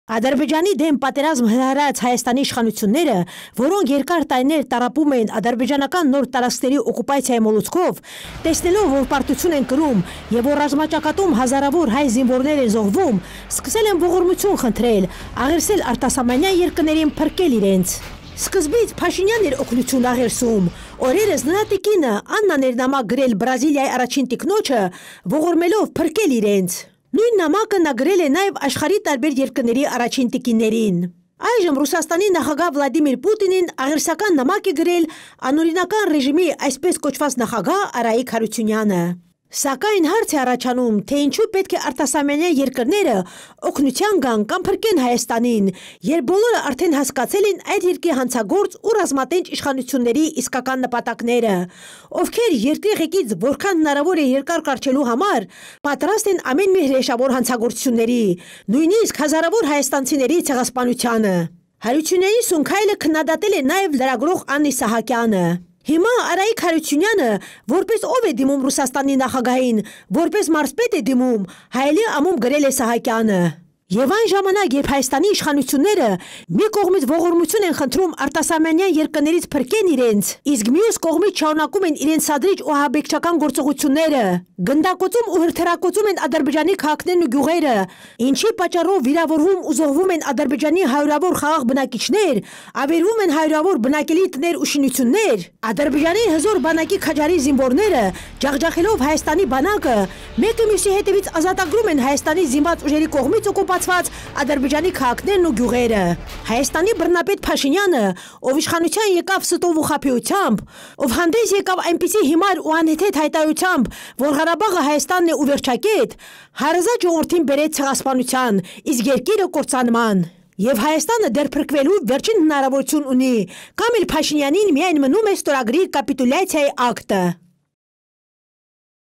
Ադրբեջանի դեմ պատերազմ հրահրած Հայաստանի իշխանությունները, որոնք երկար տարիներ տառապում են ադրբեջանական նոր տարածքների օկուպացիայի մոլուցքով, տեսնելով, որ պարտություն են կրում եւ որ ռազմաճակատում հազարավոր հայ զինվորներ են զոհվում, սկսել են ողորմություն խնդրել, աղերսել արտասահմանյան երկրներին փրկել իրենց։ Սկզբից Փաշինյանն էր օգնություն աղերսում, օրերս նրա տիկինը Աննան էր նամակ գրել Բրազիլիայի առաջին տիկնոջը, ողորմելով փրկել իրենց։ Նույն նամակը նա գրել է նաև աշխարհի տարբեր երկրների առաջին տիկիններին։ Այժմ Ռուսաստանի նախագահ Վլադիմիր Պուտինին աղերսական նամակ է գրել անօրինական ռեժիմի այսպես կոչված նախագահ Արայիկ Հարությունյանը։ Սակայն հարց է առաջանում, թե ինչու պետք է արտասահմանյան երկրները օգնության գան կամ փրկեն Հայաստանին, երբ բոլորը արդեն հասկացել են այդ երկրի հանցագործ ու ռազմատենչ իշխանությունների իսկական նպատակները, ովքեր երկրի ղեկից որքան հնարավոր է երկար կառչելու համար պատրաստ են ամեն մի հրեշավոր հանցագործությունների, նույնիսկ հազարավոր հայաստանցիների ցեղասպանությանը։ Հարությունյանի սունքայլը քննադատել է նաև լրագրող Աննի Սահակյանը։ Հիմա Արայիկ Հարությունյանը որպես ով է դիմում Ռուսաստանի նախագահին, որպես մարզպետ է դիմում, հայելի ամում գրել է Սահակյանը։ Եվ այն ժամանակ, երբ Հայաստանի իշխանությունները մի կողմից ողորմություն են խնդրում արտասահմանյան երկրներից փրկեն իրենց, իսկ մյուս կողմից շարունակում են իրենց սադրիչ ու ահաբեկչական գործողությունները, գնդակոծում ու հրթիռակոծում են Ադրբեջանի քաղաքներն ու գյուղերը, ինչի պատճառով վիրավորվում ու զոհվում են Ադրբեջանի հարյուրավոր խաղաղ բնակիչներ, ավերվում են հարյուրավոր բնակելի տներ ու շինություններ, Ադրբեջանի հզոր բանակի քաջարի զինվորները, ջախջախելով Հայաստանի բանակը, մեկը մյուսի հետևից ազատագրում են Հայաստանի զինված ուժերի կողմից օկուպացված Ադրբեջանի քաղաքներն ու գյուղերը։ Հայաստանի բռնապետ Փաշինյանը, ով իշխանության եկավ ստով ու խաբեությամբ, ով հանդես եկավ այնպիսի հիմար ու անհեթեթ հայտարարությամբ, որ Ղարաբաղը Հայաստանն է ու վերջակետ, հարազատ ժողովրդին բերեց ցեղասպանության, իսկ երկիրը կործանման։ Եվ Հայաստանը դեռ փրկվելու վերջին հնարավորություն ունի, կամ էլ Փաշինյանին միայն մնում է ստորագրի կապիտուլյացիայի ակտը։